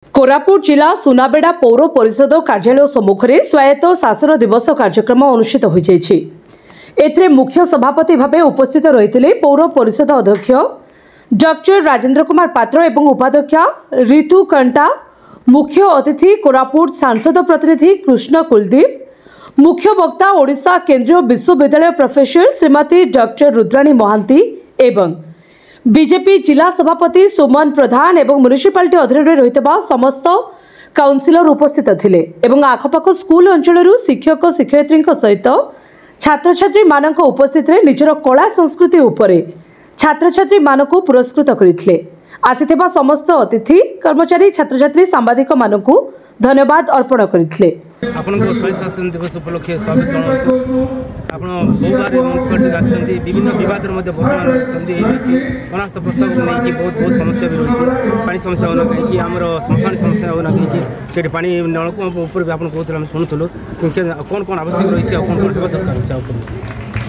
କୋରାପୁଟ ଜିଲ୍ଲା ସୁନାବେଡ଼ା ପୌର ପରିଷଦ କାର୍ଯ୍ୟାଳୟ ସମ୍ମୁଖରେ ସ୍ୱାୟତ୍ତ ଶାସନ ଦିବସ କାର୍ଯ୍ୟକ୍ରମ ଅନୁଷ୍ଠିତ ହୋଇଯାଇଛି। ଏଥିରେ ମୁଖ୍ୟ ସଭାପତି ଭାବେ ଉପସ୍ଥିତ ରହିଥିଲେ ପୌର ପରିଷଦ ଅଧ୍ୟକ୍ଷ ଡକ୍ଟର ରାଜେନ୍ଦ୍ର କୁମାର ପାତ୍ର ଏବଂ ଉପାଧ୍ୟକ୍ଷା ରିତୁ କଣ୍ଟା, ମୁଖ୍ୟ ଅତିଥି କୋରାପୁଟ ସାଂସଦ ପ୍ରତିନିଧି କୃଷ୍ଣ କୁଲଦୀପ, ମୁଖ୍ୟ ବକ୍ତା ଓଡ଼ିଶା କେନ୍ଦ୍ରୀୟ ବିଶ୍ୱବିଦ୍ୟାଳୟ ପ୍ରଫେସର ଶ୍ରୀମତୀ ଡକ୍ଟର ରୁଦ୍ରାଣୀ ମହାନ୍ତି ଏବଂ ବିଜେପି ଜିଲ୍ଲା ସଭାପତି ସୁମନ ପ୍ରଧାନ ଏବଂ ମ୍ୟୁନିସିପାଲିଟି ଅଧୀନରେ ରହିଥିବା ସମସ୍ତ କାଉନସିଲର ଉପସ୍ଥିତ ଥିଲେ ଏବଂ ଆଖପାଖ ସ୍କୁଲ ଅଞ୍ଚଳରୁ ଶିକ୍ଷକ ଶିକ୍ଷୟିତ୍ରୀଙ୍କ ସହିତ ଛାତ୍ରଛାତ୍ରୀମାନଙ୍କ ଉପସ୍ଥିତିରେ ନିଜର କଳା ସଂସ୍କୃତି ଉପରେ ଛାତ୍ରଛାତ୍ରୀମାନଙ୍କୁ ପୁରସ୍କୃତ କରିଥିଲେ। ଆସିଥିବା ସମସ୍ତ ଅତିଥି, କର୍ମଚାରୀ, ଛାତ୍ରଛାତ୍ରୀ, ସାମ୍ବାଦିକମାନଙ୍କୁ ଧନ୍ୟବାଦ ଅର୍ପଣ କରିଥିଲେ। ଆପଣଙ୍କ ସ୍ୱାୟତ୍ତ ଶାସନ ଦିବସ ଉପଲକ୍ଷେ ସ୍ୱାଗତ ଜଣାଉଛୁ। ଆପଣ ବହୁବାର ମ୍ୟୁନିସିପାଲିଟିରେ ଆସିଛନ୍ତି, ବିଭିନ୍ନ ବିବାଦରେ ମଧ୍ୟ ବର୍ତ୍ତମାନ ରହିଛନ୍ତି। ହେଇଛି ଅନାସ୍ଥା ପ୍ରସ୍ତାବକୁ ନେଇକି ବହୁତ ବହୁତ ସମସ୍ୟା ବି ରହିଛି। ପାଣି ସମସ୍ୟା ହେଉନା କାହିଁକି, ଆମର ଶ୍ମଶାନ ସମସ୍ୟା ହେଉନା କାହିଁକି, ସେଠି ପାଣି ନଳକୂପ ଉପରେ ବି ଆପଣ କହୁଥିଲେ, ଆମେ ଶୁଣୁଥିଲୁ। କ'ଣ କ'ଣ ଆବଶ୍ୟକ ରହିଛି ଆଉ କ'ଣ କ'ଣ ହେବା ଦରକାର ଅଛି?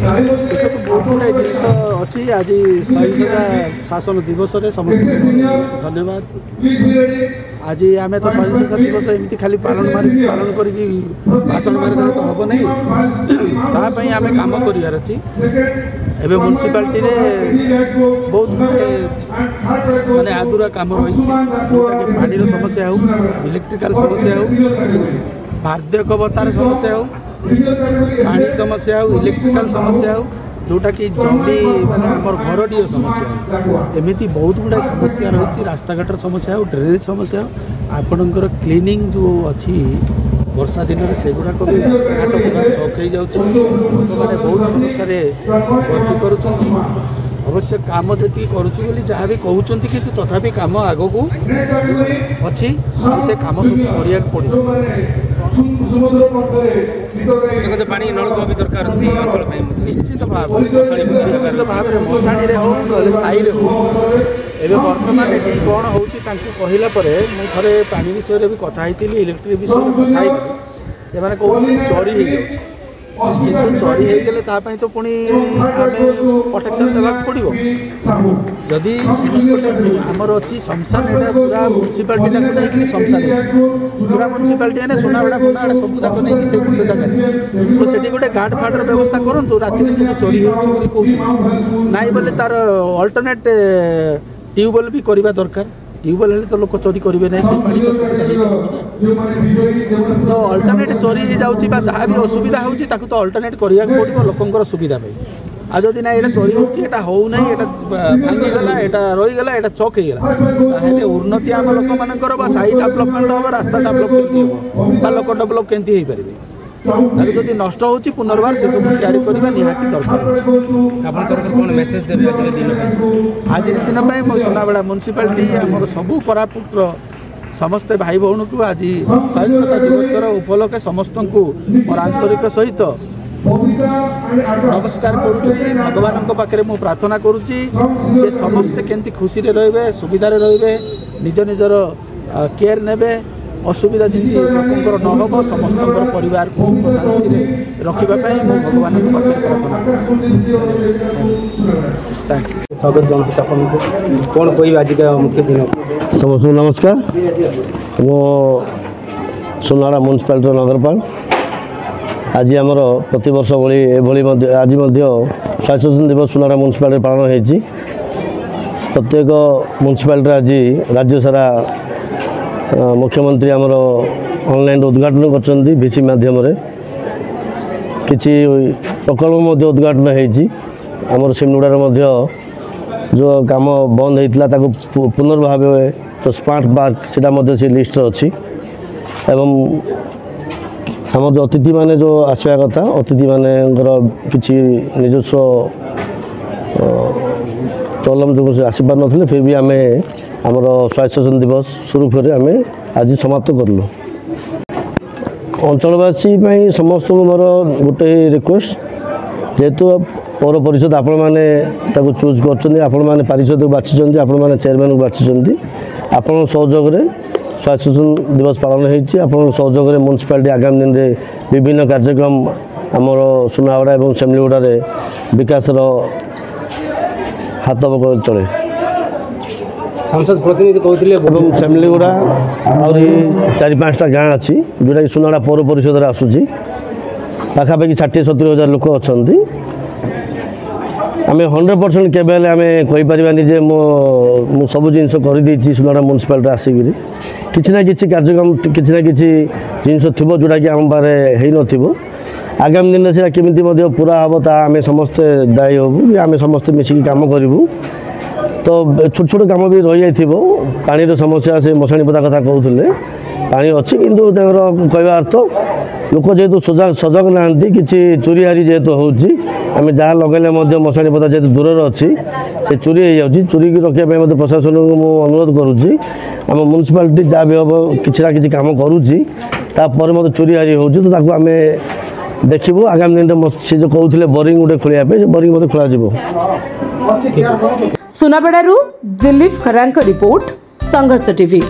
ଆଉ ଦେଖନ୍ତୁ, ବହୁତ ଗୁଡ଼ାଏ ଜିନିଷ ଅଛି। ଆଜି ସ୍ୱାୟତ୍ତତା ଶାସନ ଦିବସରେ ସମସ୍ତଙ୍କୁ ଧନ୍ୟବାଦ। ଆଜି ଆମେ ତ ସ୍ୱାଧୀନତା ଦିବସ ଏମିତି ଖାଲି ପାଳନ ମାରି ପାଳନ କରିକି ଭାଷଣ ମାରିଦେଲେ ତ ହେବ ନାହିଁ, ତା ପାଇଁ ଆମେ କାମ କରିବାର ଅଛି। ଏବେ ମ୍ୟୁନିସିପାଲିଟିରେ ବହୁତ ଗୁଡ଼ାଏ ମାନେ ଆଧୁରା କାମ ରହିଛି, ଯେଉଁଟାକି ପାଣିର ସମସ୍ୟା ହେଉ, ଇଲେକ୍ଟ୍ରିକାଲ ସମସ୍ୟା ହେଉ, ବାର୍ଦ୍ଧକ୍ୟ ଭତ୍ତାର ସମସ୍ୟା ହେଉ, ପାଣି ସମସ୍ୟା ହେଉ, ଇଲେକ୍ଟ୍ରିକାଲ ସମସ୍ୟା ହେଉ, ଯେଉଁଟାକି ଜମି ମାନେ ଆମର ଘରଟିଏ ସମସ୍ୟା ହେଉ, ଏମିତି ବହୁତ ଗୁଡ଼ାଏ ସମସ୍ୟା ରହିଛି। ରାସ୍ତାଘାଟର ସମସ୍ୟା ହେଉ, ଡ୍ରେନେଜ୍ ସମସ୍ୟା ହେଉ, ଆପଣଙ୍କର କ୍ଲିନିଂ ଯେଉଁ ଅଛି ବର୍ଷା ଦିନରେ ସେଗୁଡ଼ାକ ବି ରାସ୍ତାଘାଟ ପୁରା ଚକ୍ ହେଇଯାଉଛି। ଲୋକମାନେ ବହୁତ ସମସ୍ୟାରେ ଗତି କରୁଛନ୍ତି। ଅବଶ୍ୟ କାମ ଯେତିକି କରୁଛୁ ବୋଲି ଯାହା ବି କହୁଛନ୍ତି, କିନ୍ତୁ ତଥାପି କାମ ଆଗକୁ ଅଛି ଆଉ ସେ କାମ ସବୁ କରିବାକୁ ପଡ଼ିବ। ଦେଖନ୍ତୁ, ପାଣି ନଳକୂପ ବି ଦରକାର ଅଛି ଅଞ୍ଚଳ ପାଇଁ। ନିଶ୍ଚିତ ଭାବରେ, ନିଶ୍ଚିତ ଭାବରେ, ମଶାଣିରେ ହେଉ ନହେଲେ ସାହିରେ ହେଉ। ଏବେ ବର୍ତ୍ତମାନ ଏଠି କ'ଣ ହେଉଛି ତାଙ୍କୁ କହିଲା ପରେ, ମୁଁ ଥରେ ପାଣି ବିଷୟରେ ବି କଥା ହେଇଥିଲି, ଇଲେକ୍ଟ୍ରିକ୍ ବିଷୟରେ କଥା ହେଇଥିଲି, ସେମାନେ କହୁଛନ୍ତି ଚୋରି ହେଇଯାଉଛି। କିନ୍ତୁ ଚୋରି ହେଇଗଲେ ତା ପାଇଁ ତ ପୁଣି ଆମେ ପ୍ରୋଟେକ୍ସନ୍ ଦେବାକୁ ପଡ଼ିବ। ଯଦି ସେଠି ଗୋଟେ ଆମର ଅଛି ଶ୍ମଶାନ, ଏଇଟା ପୁରା ମ୍ୟୁନିସିପାଲିଟିଟାକୁ ନେଇକିରି ଶ୍ମଶାନ ହେଇଛି। ପୁରା ମ୍ୟୁନିସିପାଲିଟି ମାନେ ସୁନାବେଡ଼ା ଫୁନାବେଡ଼ା ସବୁ ଯାକ ନେଇକି ସେଇ ଗୋଟେ ଜାଗାରେ, ତ ସେଠି ଗୋଟେ ଗାର୍ଡ଼ ଫାର୍ଡ଼ର ବ୍ୟବସ୍ଥା କରନ୍ତୁ। ରାତିରେ ଯେଉଁଠି ଚୋରି ହେଉଛି ବୋଲି କହୁଛନ୍ତି, ନାଇଁ ବୋଲେ ତାର ଅଲ୍ଟରନେଟ୍ ଟ୍ୟୁବୱେଲ୍ ବି କରିବା ଦରକାର। ଟ୍ୟୁବୱେଲ୍ ହେଲେ ତ ଲୋକ ଚୋରି କରିବେ ନାହିଁ, ପାଣି ତ ସୁବିଧା ହେଇପାରିବ ନା। ତ ଅଲ୍ଟରନେଟ୍ ଚୋରି ହେଇଯାଉଛି ବା ଯାହା ବି ଅସୁବିଧା ହେଉଛି, ତାକୁ ତ ଅଲ୍ଟରନେଟ୍ କରିବାକୁ ପଡ଼ିବ ଲୋକଙ୍କର ସୁବିଧା ପାଇଁ। ଆଉ ଯଦି ନା ଏଇଟା ଚୋରି ହେଉଛି, ଏଇଟା ହେଉନାହିଁ, ଏଇଟା ଭାଙ୍ଗିଗଲା, ଏଇଟା ରହିଗଲା, ଏଇଟା ଚକ୍ ହେଇଗଲା, ତାହେଲେ ଉନ୍ନତି ଆମ ଲୋକମାନଙ୍କର ବା ସାହି ଡେଭଲପମେଣ୍ଟ ହେବ, ରାସ୍ତା ଡେଭଲପ୍ କେମିତି ହେବ ବା ଲୋକ ଡେଭଲପ୍ କେମିତି ହେଇପାରିବେ? ତାକୁ ଯଦି ନଷ୍ଟ ହେଉଛି, ପୁନର୍ବାର ସେସବୁ ତିଆରି କରିବା ନିହାତି ଦରକାର ଅଛି। ଆପଣ ତରଫରୁ କ'ଣ ମେସେଜ ଦେବେ ଆଜିର ଦିନ ପାଇଁ? ଆଜିର ଦିନ ପାଇଁ ମୁଁ ସୁନାବେଡ଼ା ମ୍ୟୁନିସିପାଲିଟି, ଆମର ସବୁ କୋରାପୁଟର ସମସ୍ତେ ଭାଇ ଭଉଣୀକୁ ଆଜି ସ୍ୱାଧୀନତା ଦିବସର ଉପଲକ୍ଷେ ସମସ୍ତଙ୍କୁ ମୋର ଆନ୍ତରିକ ସହିତ ନମସ୍କାର କରୁଛି। ଭଗବାନଙ୍କ ପାଖରେ ମୁଁ ପ୍ରାର୍ଥନା କରୁଛି ଯେ ସମସ୍ତେ କେମିତି ଖୁସିରେ ରହିବେ, ସୁବିଧାରେ ରହିବେ, ନିଜ ନିଜର କେୟାର ନେବେ, ଅସୁବିଧା ଯେମିତି ଲୋକଙ୍କର ନ ହେବ, ସମସ୍ତଙ୍କର ପରିବାରକୁ ସୁଖ ଶାନ୍ତିରେ ରଖିବା ପାଇଁ ମୁଁ ଭଗବାନଙ୍କ ପାଖରେ ପ୍ରାର୍ଥନା କରୁଛି। Thank you. ସ୍ୱାଗତ ଜଣାଉଛି ଆପଣଙ୍କୁ। କ'ଣ କହିବେ ଆଜିକା ମୁଖ୍ୟ ଦିନ? ସମସ୍ତଙ୍କୁ ନମସ୍କାର। ମୁଁ ସୁନାବେଡ଼ା ମ୍ୟୁନିସିପାଲିଟିର ନଗରପାଳ। ଆଜି ଆମର ପ୍ରତିବର୍ଷ ଭଳି ଏଭଳି ମଧ୍ୟ ଆଜି ମଧ୍ୟ ସ୍ୱାୟତ୍ତ ଶାସନ ଦିବସ ସୁନାବେଡ଼ା ମ୍ୟୁନିସିପାଲିଟିରେ ପାଳନ ହେଇଛି। ପ୍ରତ୍ୟେକ ମ୍ୟୁନିସିପାଲିଟିରେ ଆଜି ରାଜ୍ୟ ସାରା ମୁଖ୍ୟମନ୍ତ୍ରୀ ଆମର ଅନଲାଇନ୍ ଉଦ୍ଘାଟନ କରିଛନ୍ତି ଭିସି ମାଧ୍ୟମରେ। କିଛି ପ୍ରକଳ୍ପ ମଧ୍ୟ ଉଦ୍ଘାଟନ ହେଇଛି। ଆମର ସିମୁଡ଼ାରେ ମଧ୍ୟ ଯେଉଁ କାମ ବନ୍ଦ ହେଇଥିଲା, ତାକୁ ପୁନର୍ଭାବେ ସ୍ମାର୍ଟ ପାର୍କ ସେଇଟା ମଧ୍ୟ ସେ ଲିଷ୍ଟରେ ଅଛି। ଏବଂ ଆମର ଯେଉଁ ଅତିଥିମାନେ ଯେଉଁ ଆସିବା କଥା, ଅତିଥିମାନଙ୍କର କିଛି ନିଜସ୍ୱ ପ୍ରୋବ୍ଲେମ୍ ଯୋଗୁଁ ସେ ଆସିପାରୁନଥିଲେ। ଫିର୍ ବି ଆମେ ଆମର ସ୍ୱାୟତ୍ତ ଶାସନ ଦିବସ ସୁରୁଖୁରୁରେ ଆମେ ଆଜି ସମାପ୍ତ କଲୁ। ଅଞ୍ଚଳବାସୀ ପାଇଁ ସମସ୍ତଙ୍କୁ ମୋର ଗୋଟେ ରିକ୍ୱେଷ୍ଟ, ଯେହେତୁ ପୌର ପରିଷଦ ଆପଣମାନେ ତାକୁ ଚୁଜ୍ କରିଛନ୍ତି, ଆପଣମାନେ ପାରିଷଦକୁ ବାଛିଛନ୍ତି, ଆପଣମାନେ ଚେୟାରମ୍ୟାନ୍କୁ ବାଛିଛନ୍ତି, ଆପଣଙ୍କ ସହଯୋଗରେ ସ୍ୱାୟତ୍ତ ଶାସନ ଦିବସ ପାଳନ ହେଇଛି। ଆପଣଙ୍କ ସହଯୋଗରେ ମ୍ୟୁନିସିପାଲିଟି ଆଗାମୀ ଦିନରେ ବିଭିନ୍ନ କାର୍ଯ୍ୟକ୍ରମ ଆମର ସୁନାବେଡ଼ା ଏବଂ ସେମିଳିଗୁଡ଼ାରେ ବିକାଶର ହାତ ଚଳେ। ସାଂସଦ ପ୍ରତିନିଧି କହୁଥିଲେ ଏବଂ ସେମିଲିଗୁଡ଼ା ଆହୁରି 4 5ଟା ଗାଁ ଅଛି ଯେଉଁଟାକି ସୁନାବେଡ଼ା ପୌର ପରିଷଦରେ ଆସୁଛି। ପାଖାପାଖି 60-70 ହଜାର ଲୋକ ଅଛନ୍ତି। ଆମେ 100% କେବେ ହେଲେ ଆମେ କହିପାରିବାନି ଯେ ମୁଁ ସବୁ ଜିନିଷ କରିଦେଇଛି। ସୁନାବେଡ଼ା ମ୍ୟୁନିସିପାଲିଟି ଆସିକିରି କିଛି ନା କିଛି କାର୍ଯ୍ୟକ୍ରମ, କିଛି ନା କିଛି ଜିନିଷ ଥିବ ଯେଉଁଟାକି ଆମ ପାଖରେ ହେଇନଥିବ। ଆଗାମୀ ଦିନରେ ସେଇଟା କେମିତି ମଧ୍ୟ ପୁରା ହେବ, ତାହା ଆମେ ସମସ୍ତେ ଦାୟୀ ହେବୁ କି ଆମେ ସମସ୍ତେ ମିଶିକି କାମ କରିବୁ। ତ ଛୋଟ ଛୋଟ କାମ ବି ରହିଯାଇଥିବ। ପାଣିର ସମସ୍ୟା, ସେ ମଶାଣି ପଦା କଥା କହୁଥିଲେ, ପାଣି ଅଛି କିନ୍ତୁ ତାଙ୍କର କହିବା ଅର୍ଥ ଲୋକ ଯେହେତୁ ସଜାଗ ନାହାନ୍ତି, କିଛି ଚୋରି ହାରି ଯେହେତୁ ହେଉଛି, ଆମେ ଯାହା ଲଗାଇଲେ ମଧ୍ୟ ମଶାଣି ପଦା ଯେହେତୁ ଦୂରରେ ଅଛି, ସେ ଚୋରି ହେଇଯାଉଛି। ଚୋରିକି ରଖିବା ପାଇଁ ମଧ୍ୟ ପ୍ରଶାସନକୁ ମୁଁ ଅନୁରୋଧ କରୁଛି। ଆମ ମ୍ୟୁନିସିପାଲିଟି ଯାହା ବି ହେବ କିଛି ନା କିଛି କାମ କରୁଛି, ତାପରେ ମଧ୍ୟ ଚୋରି ହାରି ହେଉଛି, ତ ତାକୁ ଆମେ ଦେଖିବୁ। ଆଗାମୀ ଦିନରେ ସେ ଯେଉଁ କହୁଥିଲେ ବୋରିଂ ଗୋଟେ ଖୋଳିବା ପାଇଁ, ସେ ବୋରିଂ ମଧ୍ୟ ଖୋଳାଯିବ। ସୁନାବେଡ଼ାରୁ ଦିଲ୍ଲୀପ ଖରାଙ୍କ ରିପୋର୍ଟ, ସଂଘର୍ଷ ଟିଭି।